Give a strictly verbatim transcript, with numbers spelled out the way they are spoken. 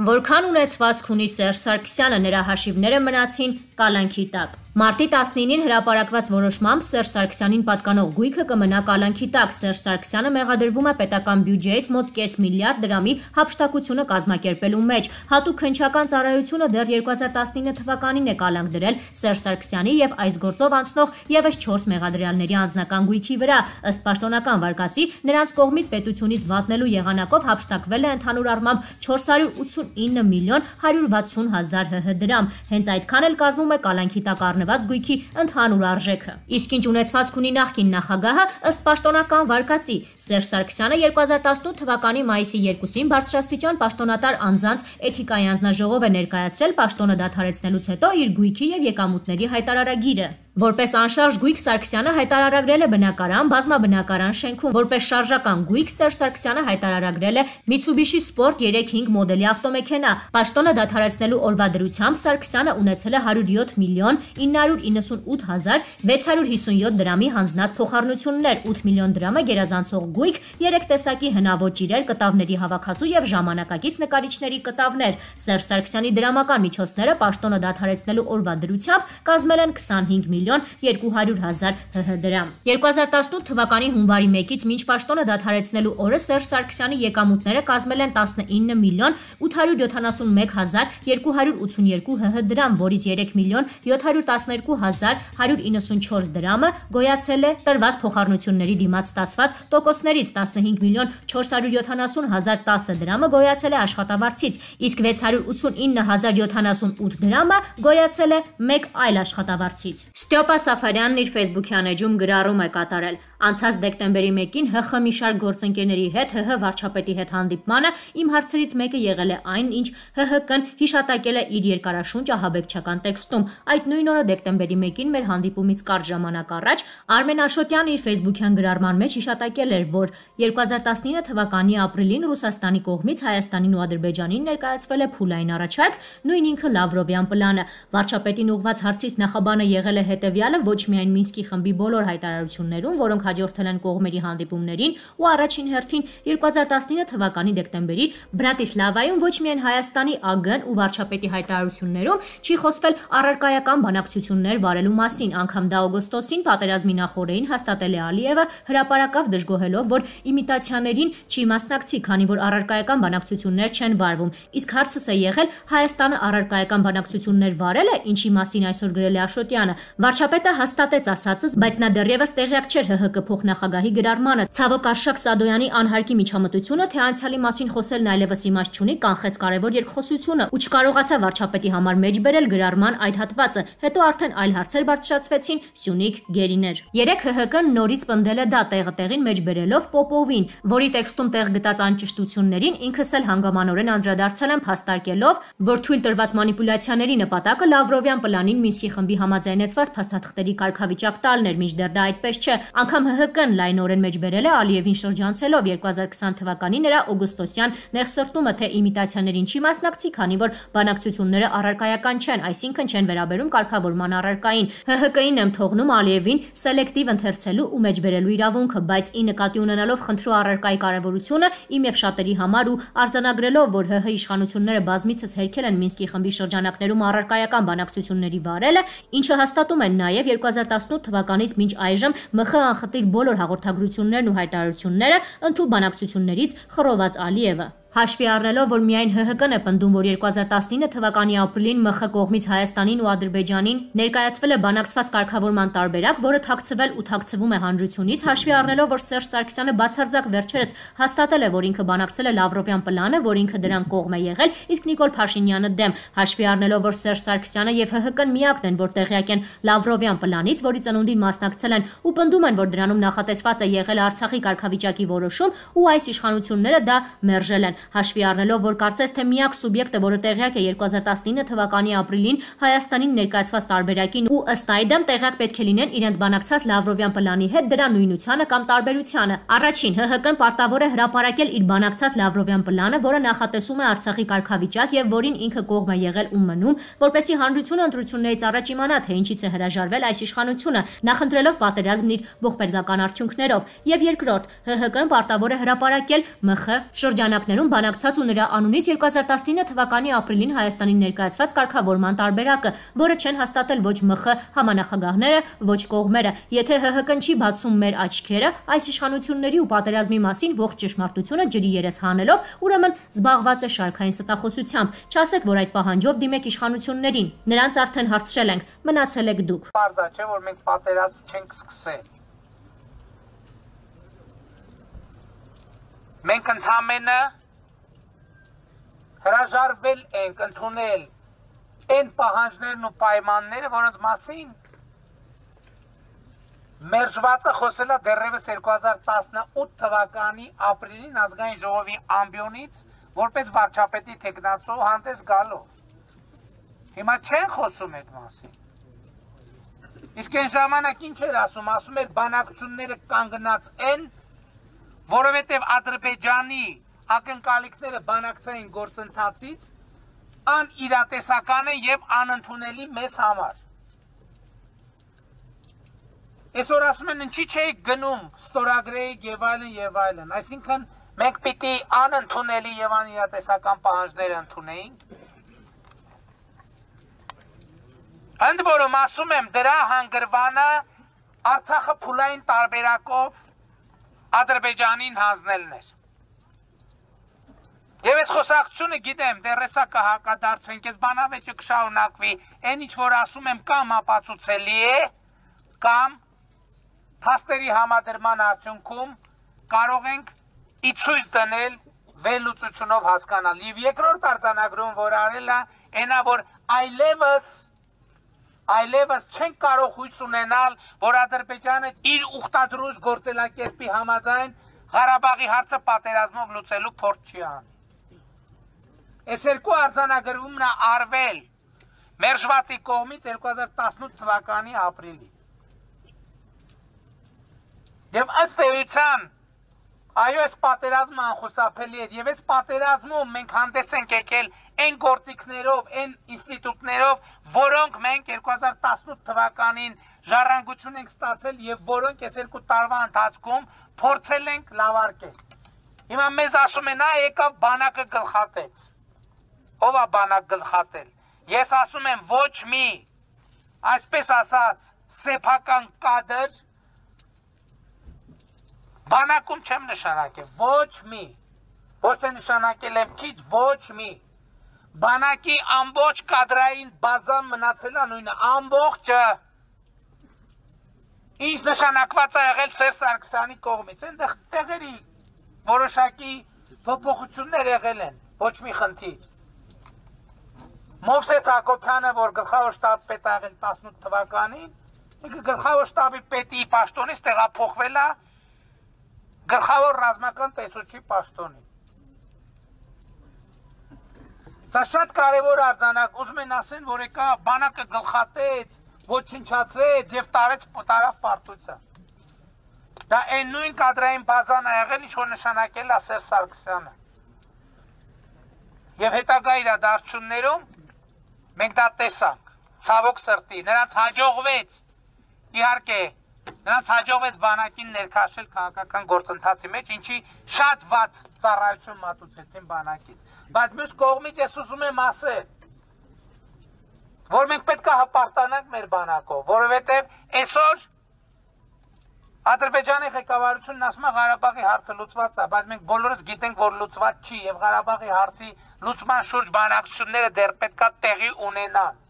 Որքան ունեցվածք ունի Սերժ Սարգսյանը, նրա հաշիվները մնացին կալանքի տակ։ Մարտի տասնինին հրապարակված որոշմամբ Սերժ Սարգսյանին պատկանող գույքը կմնա կալանքի տակ։ Սերժ Սարգսյանը մեղադրվում է պետական բյուջեից մոտ կես միլիարդ դրամի հափշտակությունը կազմակերպելու մեջ։ Հատուկ քննչական ծառայությունը դեռ երկու հազար տասնինը թվականին է կալանք դրել Սերժ Սարգսյանի եւ այս գործով անցնող եւս չորս մեղադրյալների անձնական գույքի վրա։ Ըստ պաշտոնական վարկածի, նրանց կողմից պետությունից վատնելու եղանակով հափշտակվել է ընդհանուր առմամբ չորս հարյուր ութսունինը միլիոն հարյուր վաթսուն հազար հհ դրամ։ Հենց այդքան էլ կազմում է կալանքի տակ առնված գույքի ընդհանուր արժեքը։ Իսկ ինչ ունեցվածք ունի նախկին նախագահը, ըստ պաշտոնական վարկածի, Սերժ Սարգսյանը երկու հազար տասնութ թվականի մայիսի երկուսին բարձրաստիճան պաշտոնատար անձանց էթիկայի անձնաժողով է ներկայացրել պաշտոնը դադարեցնելուց հետո իր գույքի եւ եկամուտների հայտարարագիրը։ Որպես անշարժ գույք Սարգսյանը հայտարարագրել է բնակարան, բազմաբնակարան շենքում, որպես շարժական գույք Սերժ Սարգսյանը հայտարարագրել է Mitsubishi Sport երեք հինգ մոդելի ավտոմեքենա։ Պաշտոնը դադարեցնելու օրվա դրությամբ Սարգսյանը ունեցել է հարյուր յոթ միլիոն ինը հարյուր իննսունութ հազար վեց հարյուր հիսունյոթ դրամի հանձնած փոխառնություններ, ութ միլիոն դրամը գերազանցող գույք, երեք տեսակի հնաոճ իրեր, կտավների հավաքածու եւ ժամանակակից նկարիչների կտավներ։ Սերժ Սարգսյանի դրամական միջոցները պաշտոնը դադարեցնելու օրվա դրությամբ կազմել են քսանհինգ միլիոն երկու հարյուր հազար հհ դրամ։ երկու հազար տասնութ թվականի հունվարի մեկից մինչ պաշտոնը դադարեցնելու օրը Սերժ Սարգսյանի եկամուտները կազմել են տասնինը միլիոն ութ հարյուր յոթանասունմեկ հազար երկու հարյուր ութսունյոթ հհ դրամ, որից երեք միլիոն յոթ հարյուր տասներկու հազար հարյուր իննսունչորս դրամը գոյացել է տրված փոխառնությունների դիմաց ստացված տոկոսներից, տասնհինգ միլիոն չորս հարյուր յոթանասուն հազար տասը դրամը գոյացել է աշխատավարձից, իսկ վեց հարյուր ութսունինը հազար յոթանասունութ դրամը գոյացել է մեկ այլ աշխատավարձից։ Ստյոպա Սաֆարյանն իր Facebook-յան էջում գրառում է կատարել. Անցած դեկտեմբերի մեկին ՀԽ մի շարք գործընկերների հետ ՀՀ վարչապետի հետ հանդիպմանը իմ հարցերից մեկը եղել է այն, ինչ ՀՀԿ-ն հիշատակել է իր երկարաշունչ ահաբեկչական տեքստում։ Այդ նույն օրը դեկտեմբերի մեկին մեր հանդիպումից կարճ ժամանակ առաջ Արմեն Աշոտյանը իր Facebook-յան գրառման մեջ հիշատակել էր, որ երկու հազար տասնինը թվականի ապրիլին Ռուսաստանի կողմից Հայաստանին ու Ադրբեջանին ներկայացվել է փուլային առաջարկ, նույն ինքը Լավրովյան պլանը։ Վարչապետին ուղղված հարցից նախաբանը եղել է հետևյալը, ոչ միայն Մինսկի խմբի բոլոր հայտարարություններում, որոնք հաջորդել են կողմերի հանդիպումներին, ու առաջին հերթին երկու հազար տասնինը թվականի դեկտեմբերի Բրատիսլավայում ոչ միայն Հայաստանի ԱԳ-ն ու վարչապետի հայտարարություններում չի խոսվել առարկայական բանակցություններ վարելու մասին, անգամ դա օգոստոսին պատերազմի նախօրեին հաստատել է Ալիևը, հրապարակավ դժգոհելով, որ իմիտացիաներին չի մասնակցի, քանի որ առարկայական բանակցություններ չեն վարվում։ Իսկ հարցս է եղել Հայաստանը առարկայական բանակցություններ վարել է, ինչի մասին այսօր գրել է Աշոտյանը։ Վարչապետը հաստատեց ասածս, բայց նա դեռևս տեղյակ չէր ՀՀԿ փոխնախագահի գրառմանը։ Ցավոք Արշակ Սադոյանի անհարկի միջամտությունը, թե անցյալի մասին խոսելն այլևս իմաստ չունի, կանխեց կարևոր երկխոսությունը ու չկարողացավ վարչապետի համար մեջ բերել գրառման այդ հատվածը։ Հետո արդեն այլ հարցեր բարձրացվեցին, Սյունիք, Գերիներ։ Երեք ՀՀԿ-ն նորից պնդել է դա տեղը տեղին մեջ բերելով Պոպովին, որի տեքստում տեղ գտած անճշտություններին ինքս էլ հանգամանորեն անդրադարձել եմ, փաստարկելով, որ թույլ տրված մանիպուլյացիաների նպատակը Լավրովյան պլանին Մինսկի խմբի համաձայնեցված փաստաթղթերի կարգավիճակ տալն էր, մինչդեռ դա այդպես չէ։ Անգամ ՀՀԿ-ն լայնորեն մեջ բերել է Ալիևին շրջանցելով երկու հազար քսան թվականի նրա օգոստոսյան նեղսրտումը, թե իմիտացիաներին չի մասնակցի, քանի որ բանակցությունները առարկայական չեն, այսինքն չեն վերաբերում կարգավորման առարկային։ ՀՀԿ-ին եմ թողնում Ալիևին սելեկտիվ ընթերցելու ու մեջ բերելու իրավունքը, բայց ի նկատի ունենալով խնդրու առարկայի կարևորությունը իմ եւ շատերի համար ու արձանագրելով, որ ՀՀ իշխանությունները բազմիցս հերքել են Մինսկի խմբի շրջանակներում առարկայական բանակցությունների վարելը, ինչը հաստատում են նաև երկու հազար տասնութ թվականից մինչ այժմ ՄԽ անխտիր բոլոր հաղորդագրություններն ու հայտարարությունները ընդհանուր բանակցություններից խռոված Ալիևը։ Հաշվի առնելով, որ միայն ՀՀԿ-ն է պնդում, որ երկու հազար տասնինը թվականի ապրիլին ՄԽ կողմից Հայաստանին ու Ադրբեջանին ներկայացվել է բանակցված կարգավորման տարբերակ, որը թաքցվել ու թաքցվում է հանրությունից, հաշվի առնելով, որ Սերժ Սարգսյանը բացարձակ վերջերս հաստատել է, որ ինքը բանակցել է Լավրովյան պլանը, որ ինքը դրան կողմ է եղել, իսկ Նիկոլ Փաշինյանը դեմ, հաշվի առնելով, որ Սերժ Սարգսյանը եւ ՀՀԿ-ն միակն են, որ տեղյակ են Լավրովյան պլանից, որի ծնունդին մասնակցել են ու պնդում են, որ դրանում նախատեսված է եղել Արցախի կարգավիճակի որոշում, ու այս իշխանությունները դա մերժել են։ Հաշվի առնելով, որ կարծես թե միակ սուբյեկտը, որը տեղյակ է երկու հազար տասնինը թվականի ապրիլին Հայաստանին ներկայացված տարբերակին ու ըստ այդմ տեղյակ պետք է լինեն իրենց բանակցած Լավրովյան պլանի հետ դրա նույնությանը կամ տարբերությանը։ Առաջին, ՀՀԿ-ն պարտավոր է հրապարակել իր բանակցած Լավրովյան պլանը, որը նախատեսում է Արցախի կարգավիճակ եւ որին ինքը կողմ է եղել ու մնում, որպեսզի հանրությունը ընտրություններից առաջ իմանա, թե ինչից է հրաժարվել այս իշխանությունը, նախընտրելով պատերազմն իր ողբերգական արդյունքներով։ Եվ երկրորդ, ՀՀԿ-ն պարտավոր է հրապարակել ՄԽ շրջանակներում բանակցած ու նրա անունից երկու հազար տասնինը թվականի ապրիլին Հայաստանին ներկայացված կարգավորման տարբերակը, որը չեն հաստատել ոչ ՄԽ համանախագահները, ոչ կողմերը։ Եթե ՀՀԿ-ն չի բացում մեր աչքերը այս իշխանությունների ու պատերազմի մասին ողջ ճշմարտությունը ջրի երես հանելով, ուրեմն զբաղված է շարքային ստախոսությամբ։ Չասեք, որ այդ պահանջով դիմեք իշխանություններին։ Նրանց արդեն հարցրել ենք, մնացել եք դուք։ Պարզա չէ, որ մենք պատերազմ չենք սկսել։ Մենք ընդհանրապես հրաժարվել ենք ընդունել այն պահանջներն ու պայմանները, որոնց մասին մերժվածը խոսել է դեռևս երկու հազար տասնութ թվականի ապրիլին ազգային ժողովի ամբիոնից որպես վարչապետի թեկնածու հանդես գալով։ Հիմա չեն խոսում այդ մասին։ Իսկ այն ժամանակ ինչ էր ասում, ասում էր բանակցությունները կանգնած են, որովհետև Ադրբեջանի ակնկալիքները բանակցային գործընթացից անիրատեսական են եւ անընդունելի մեզ համար։ Այսօր ասում են ինչի՞ չէի գնում ստորագրեիք եւ այլն եւ այլն, այսինքն մենք պիտի անընդունելի եւ անիրատեսական պահանջներ ընդունեինք։ Ընդ որում ասում եմ դրա հանգրվանը Արցախը փուլային տարբերակով Ադրբեջանին հանձնելն էր։ Եվ այս խոսակցությունը գիտեմ, դեռ հեսա կհակադարձենք, այս բանավեճը կշարունակվի, այն ինչ որ ասում եմ կամ ապացուցելի է, կամ փաստերի համադրման արդյունքում կարող ենք ի ցույց դնել վերլուծությունով հասկանալ։ Եվ երկրորդ արձանագրում, որ արել է, այնա որ այլևս այլևս չենք կարող հույս ունենալ, որ Ադրբեջանը իր ուխտադրուժ գործելակերպի համաձայն Ղարաբաղի հարցը պատերազմով լուծելու փորձ չի անի։ Այս երկու արձանագրումն է արվել մերժվածի կողմից երկու հազար տասնութ թվականի ապրիլի։ Եվ ըստ էության, այո, այս պատերազմը անխուսափելի էր, եւ այս պատերազմում մենք հանդես ենք եկել այն գործիքներով, այն ինստիտուտներով, որոնք մենք երկու հազար տասնութ թվականին ժառանգություն ենք ստացել եւ որոնք այս երկու տարվա ընթացքում փորձել ենք լավարկել։ Հիմա մեզ ասում են, «Ա եկավ բանակը գլխատեց»։ Ո՞վ է բանակ գլխատել։ Ես ասում եմ, ոչ մի, այսպես ասած, սեփական կադր բանակում չեմ նշանակել, ոչ մի, ոչ թե նշանակել եմ քիչ, ոչ մի, բանակի ամբողջ կադրային բազան մնացել է նույնը, ամբողջը, ինչ նշանակված է եղել Սերժ Սարգսյանի կողմից, այնտեղ տեղերի որոշակի փոփոխություններ եղել են, ոչ մի խնդիր։ Մովսես Հակոբյանը, որ գլխավոր շտաբի պետ է եղել տասնութ թվականին, գլխավոր շտաբի պետի պաշտոնից տեղափոխվել է գլխավոր ռազմական տեսուչի պաշտոնին։ Սա շատ կարևոր արձանակ, ուզում են ասեն, որ եկա բանակը գլխատեց, ոչնչացրեց եւ տարեց տարավ պարտության։ Դա այն նույն կադրային բազան է եղել, ինչ որ նշանակել է Սերժ Սարգսյանը։ Եվ հետագա իրադարձություններում մենք դա տեսանք, ցավոք սրտի, նրանց հաջողվեց, իհարկե, նրանց հաջողվեց բանակին ներքաշել քաղաքական գործընթացի մեջ, ինչի շատ վատ ծառայություն մատուցեցին բանակից։ Բայց մյուս կողմից ես ուզում եմ ասել, որ մենք պետք է հպարտանանք մեր բանակով, որովհետև այսօր Ադրբեջանի ղեկավարությունն ասում է Ղարաբաղի հարցը լուծված է, բայց մենք բոլորս գիտենք, որ լուծված չի եւ Ղարաբաղի հարցի լուծման շուրջ բանակցությունները դեռ պետք է տեղի ունենան։